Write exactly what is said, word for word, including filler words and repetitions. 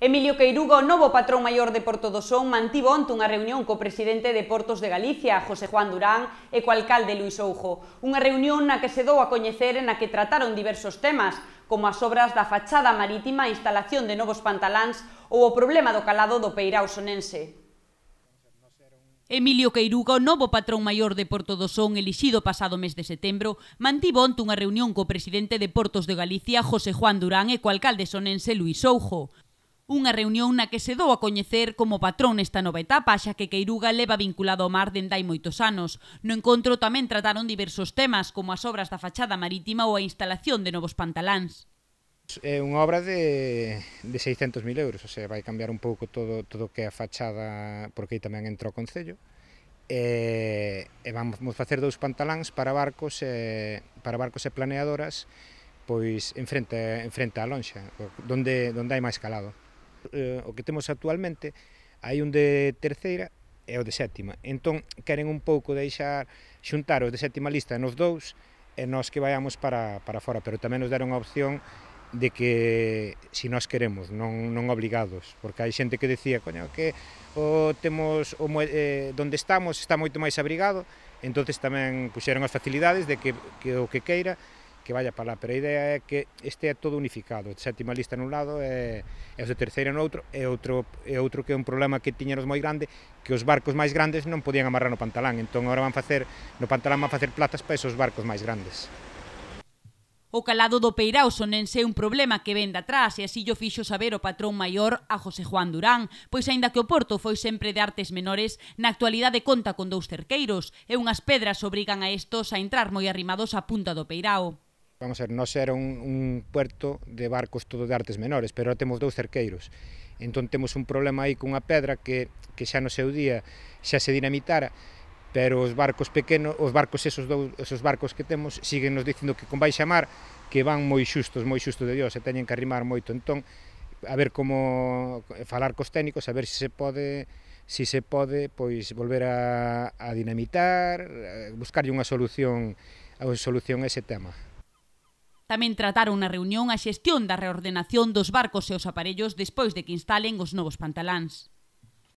Emilio Queiruga, o novo patrón maior de Porto do Son, mantivo onte unha reunión co presidente de Portos de Galicia, José Juan Durán, e co alcalde Luís Oujo. Unha reunión na que se dou a coñecer e na que trataron diversos temas, como as obras da fachada marítima, a instalación de novos pantaláns ou o problema do calado do peirao sonense. Emilio Queiruga, o novo patrón maior de Porto do Son, elixido pasado mes de setembro, mantivo onte unha reunión co presidente de Portos de Galicia, José Juan Durán, e co alcalde sonense Luís Oujo. Unha reunión na que se dou a coñecer como patrón nesta nova etapa, xa que Queiruga leva vinculado ao mar dende hai moitos anos. No encontro tamén trataron diversos temas, como as obras da fachada marítima ou a instalación de novos pantaláns. É unha obra de, de seiscentos mil euros, o sea, vai cambiar un pouco todo todo que é a fachada, porque aí tamén entra o Concello, e, e vamos facer dous pantaláns para barcos e, para barcos e planeadoras, pois en frente, en frente á lonxa, onde, onde hai máis calado. O que temos actualmente, hai un de terceira e o de sétima, entón queren un pouco deixar xuntar os de sétima lista nos dous e nós que vayamos para, para fora, pero tamén nos deron a opción de que si nós queremos, non, non obligados, porque hai xente que decía, coño, que o temos o, eh, donde estamos está moito máis abrigado, entonces tamén puxeron as facilidades de que, que o que queira que vaya para lá, pero a idea é que este é todo unificado, de sétima lista nun lado e, e os de terceira no outro, e outro, e outro que é un problema que tiñanos moi grande, que os barcos máis grandes non podían amarrar no pantalán, entón agora van facer, no pantalán van facer plazas para esos barcos máis grandes. O calado do peirao sonense é un problema que ven de atrás e así llo fixo saber o patrón maior a José Juan Durán, pois aínda que o porto foi sempre de artes menores, na actualidade conta con dous cerqueiros e unhas pedras obrigan a estos a entrar moi arrimados á punta do peirao. Vamos a ver, nós era un, un puerto de barcos todo de artes menores, pero ahora temos dous cerqueiros. Entón temos un problema aí cunha pedra que, que xa no seu día xa se dinamitara, pero os barcos pequenos, os barcos esos, dous, esos barcos que temos, siguen nos dicindo que con baixa mar que van moi xustos, moi xustos de Dios, e teñen que arrimar moito. Entón, a ver como falar cos técnicos, a ver se se pode si se pode pois volver a, a dinamitar, buscarlle unha solución, a solución a ese tema. Tamén trataron na reunión a xestión da reordenación dos barcos e os aparellos despois de que instalen os novos pantaláns.